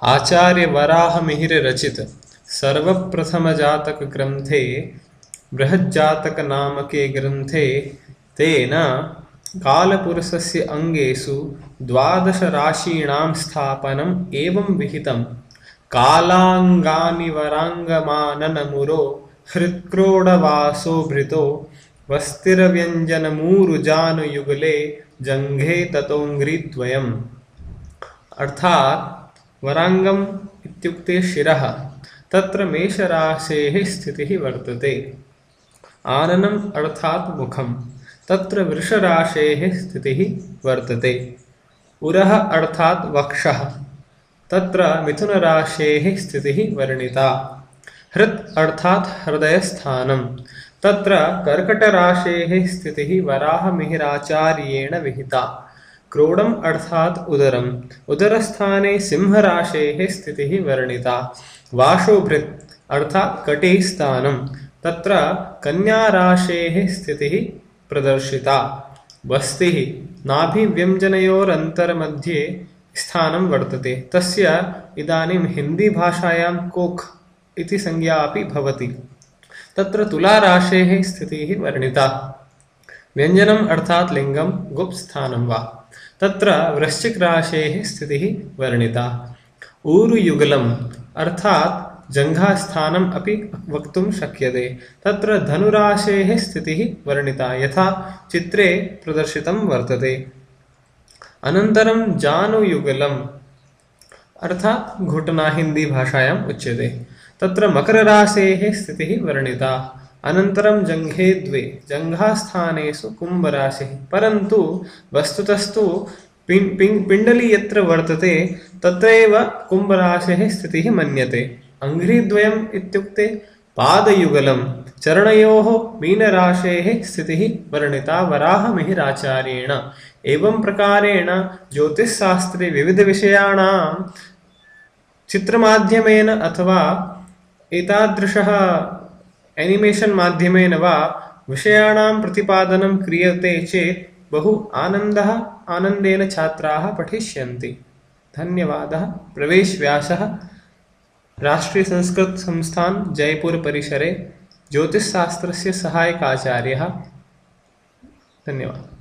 आचार्य वराह मिहिर रचित सर्वप्रथम जातक ग्रंथे बृहज्जातक नामके ग्रंथे तेन कालपुरुषस्य अंगेषु द्वादश राशीणां स्थापनम् एवं विहितम्। कालांगानि वरांगमाननमुरो हृत्क्रोडवासो भृतो वस्तिरव्यंजनमूरुजानुयुगले जंघे ततोंग्रिद्वयम्। अर्थात वरांगम इत्युक्ते शिरः, तत्र मेषराशेः स्थितिः वर्तते। आननम् अर्थात मुखं, तत्र वृषराशेः स्थितिः वर्तते। उरः अर्थात वक्षः, तत्र मिथुनराशेः स्थितिः वर्णिता। हृत् अर्थात हृदयस्थानं, तत्र कर्कटराशेः स्थितिः वराहमिहिराचार्येण विहिता। क्रोडम् अर्थात उदरम्, उदरस्थाने सिंहराशेः स्थितिः वर्णिता। वाशोभृत् अर्थात कटे स्थानं, तत्र कन्याराशेः स्थितिः प्रदर्शिता। वस्तिः नाभिव्यञ्जनयोरन्तरमध्ये स्थानं वर्तते, तस्य इदानीं हिंदी भाषायां कोख इति संज्ञा अपि भवति। तत्र तुलाराशेः स्थितिः वर्णिता। व्यञ्जनम् अर्थात लिंगं गुप्त स्थानं वा, तत्र वृश्चिक राशेः स्थितिः वर्णिता। ऊरुयुगलम् अर्थात जङ्घास्थानम् अपि वक्तुं शक्यते, तत्र धनुराशेः स्थितिः वर्णिता यथा चित्रे प्रदर्शितं वर्तते। अनन्तरं जानुयुगलम् अर्थात घुटना हिंदी भाषायाम् उच्यते, तत्र मकरराशेः स्थितिः वर्णिता। अनन्तरं जङ्घे द्वे, जङ्घास्थानेषु कुम्भराशिः, परन्तु वस्तुतस्तु पिण्डली यत्र वर्तते तत्रैव कुम्भराशेः स्थितिः मन्यते। अङ्घ्रिद्वयम् इत्युक्ते पादयुगलं, चरणयोः मीनराशेः स्थितिः वर्णिता वराहमिहिराचार्येण। एवं प्रकारेण ज्योतिषशास्त्रे विविधविषयाणां चित्रमाध्यमेन अथवा एतादृशः एनिमेशन् माध्यमेन वा विषयाणां प्रतिपादनं क्रियते चेत् बहु आनन्देन छात्राः पठिष्यन्ति। धन्यवादः। प्रवेश व्यासः, राष्ट्रीय संस्कृत संस्थान जयपुर परिसरे ज्योतिषशास्त्रस्य सहायकाचार्यः। धन्यवादः।